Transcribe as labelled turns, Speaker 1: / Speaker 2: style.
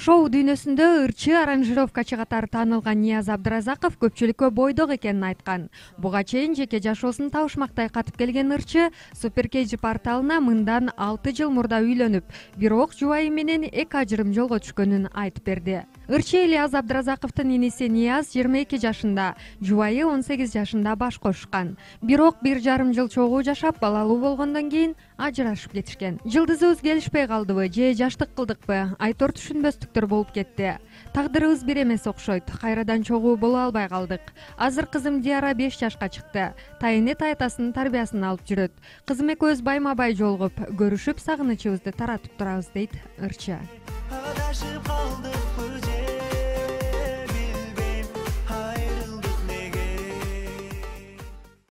Speaker 1: Шоу дүйнөсүндө ырчы аранжировкачы катары таанылган Нияз Абдыразаков көпчүлүккө бойдок экенин айткан. Буга чейин жеке жашоосун табышмактай катып келген ырчы Супер KG порталына мындан 6 жыл мурда үйлөнүп, бирок жубайы менен эки ажырым жолго түшкөнүн айтып берди. Ырчы Ильяз Абдыразаковдун иниси Нияз 22 жашында, жубайы 18 жашында баш кошушкан. Бирок 1,5 жыл чогуу жашап, балалуу болгондон кийин ажырашып кетишкен. Жылдызыбыз келишпей калдыбы же жаштык кылдыкпы? Айтор түшүнбөстүктөр болуп кетти. Тагдырыбыз бир эмес окшойт. Кайрадан чогуу боло албай калдык. Азыр кызым Диара 5 жашка чыкты. Тайыны тайтасынын тарбиясын алып жүрөт. Кызым экөөбүз байма бай жолугуп, көрүшүп, сагынычыбызды таратып турабыз дейт ырчы.